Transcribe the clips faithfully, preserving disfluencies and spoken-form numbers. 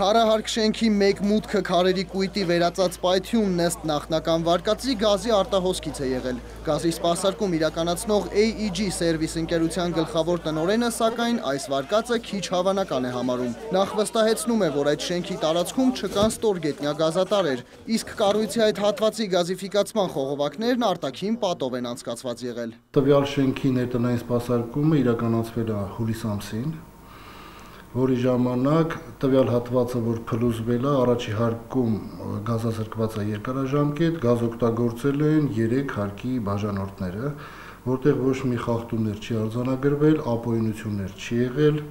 Քարահարկ շենքի մեկ մուտքը քարերի կույտի վերածած պայթյունն ըստ նախնական վարկածի գազի արտահոսքից է եղել։ Գազի սպասարկում իրականացնող A E G Service ընկերության գլխավոր տնօրենը, սակայն այս վարկածը քիչ հավանական է համարում։ Նախ վստահեցնում է, որ այդ շենքի տարածքում չկան ստորգետնյա գազատարեր, իսկ կառույցի այդ հատվածի գազիֆիկացման խողովակներն արտաքին պատով են անցկացված եղել։ Տվյալ շենքի ներտնային սպասարկումը իրականացվել է հուլիս ամսին, որի ժամանակ տվյալ հատվածը, որ փլուզվել է, առաջի հարկում գազազրկված է երկարաժամկետ, գազ օգտագործել են երեք հարկի բաժանորդները, որտեղ ոչ մի խախտումներ չի արձանագրվել, ապօրինություններ չի եղել,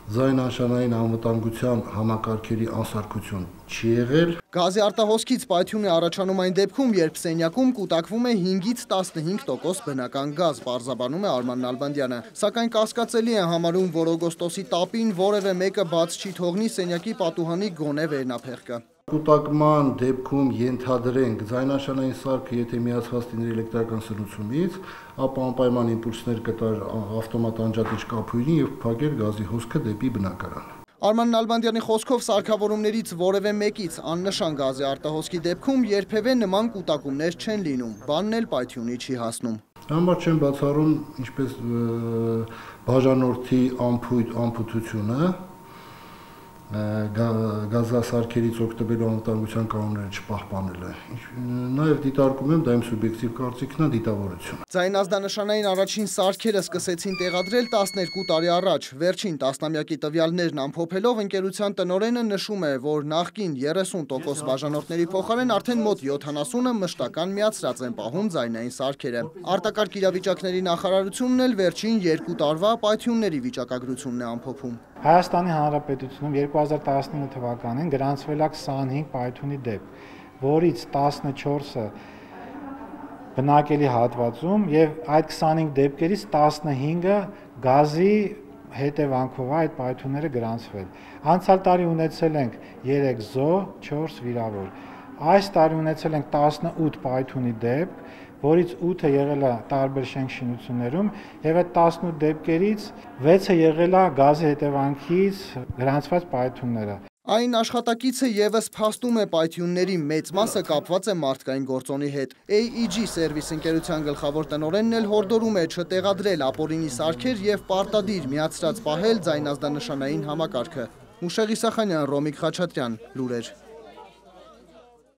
ձայնանշանային անվտանգության համակարգերի անսարքություն չի եղել։ Գազի արտահոսքից պայթյուն է առաջանում այն դեպքում, երբ սենյակում կուտակվում է հինգից տասնհինգ տոկոս բնական գազ, պարզաբանում է Արման Նալբանդյանը։ Սակայն կասկածելի է համարում, որ օգոստոսի տապին որևէ մեկը բաց չի թողնի սենյակի պատուհանի գոնե վերնափեղկը։ Կուտակման դեպքում ենթադրենք ձայնանշանային սարքը, եթե միացված լիներ էլեկտրական սնուցումից, ապա անպայման իմպուլսներ կտար ավտոմատ անջատիչ կափույրին եւ փակեր գազի հոսքը դեպի բնակարան։ Արման Նալբանդյանի խոսքով սարքավորումներից որևէ մեկից աննշան գազի արտահոսքի դեպքում երբևէ նման կուտակումներ չեն լինում, բանն էլ պայթյունի չի հասնում։ Համար չեն բացառում ինչպես բաժանորդի անփութությունը, գազասարքերից օգտվելու անվտանգության կանոնները չպահպանելը։ Նաև դիտարկում եմ, դա իմ սուբյեկտիվ կարծիքն է, դիտավորություն։ Ձայնազդանշանային առաջին սարքերը սկսեցին տեղադրել տասներկու տարի առաջ։ Վերջին տասնամյակի տվյալներն ամփոփելով, ընկերության տնօրենը նշում է, որ նախկին երեսուն տոկոս բաժանորդների փոխարեն արդեն մոտ յոթանասունը մշտական միացրած են պահում ձայնային սարքերը։ Արտակարգ իրավիճակների նախարարությունն էլ վերջին երկու տարվա պայթյունների վիճակագրությունն է ամփոփում։ Հայաստանի Հանրապետությունում երկու հազար տասնինը թվականին գրանցվել է քսանհինգ պայթյունի դեպք, որից տասնչորսը բնակելի հատվածում եւ այդ քսանհինգ դեպքերից տասնհինգը գազի հետևանքով այդ պայթյունները գրանցվել։ Անցյալ տարի ունեցել ենք երեք զոհ, չորս վիրավոր։ Այս տարի ունեցել ենք տասնութ պայթյունի դեպք, որից ութը եղել է տարբեր շենք-շինություններում եւ այդ տասնութ դեպքերից վեցը եղել է գազի հետևանքից գրանցված պայթյունները։ Այն աշխատակիցը եւս փաստում է պայթյունների մեծ մասը կապված է մարդկային գործոնի հետ։ A E G Service ընկերության գլխավոր տնօրենն էլ հորդորում է չտեղադրել ապօրինի սարքեր եւ պարտադիր միացրած պահել ձայնազդանշանային համակարգը։ Մուշեղ Իսախանյան, Ռոմիկ Խաչատրյան, լուրեր։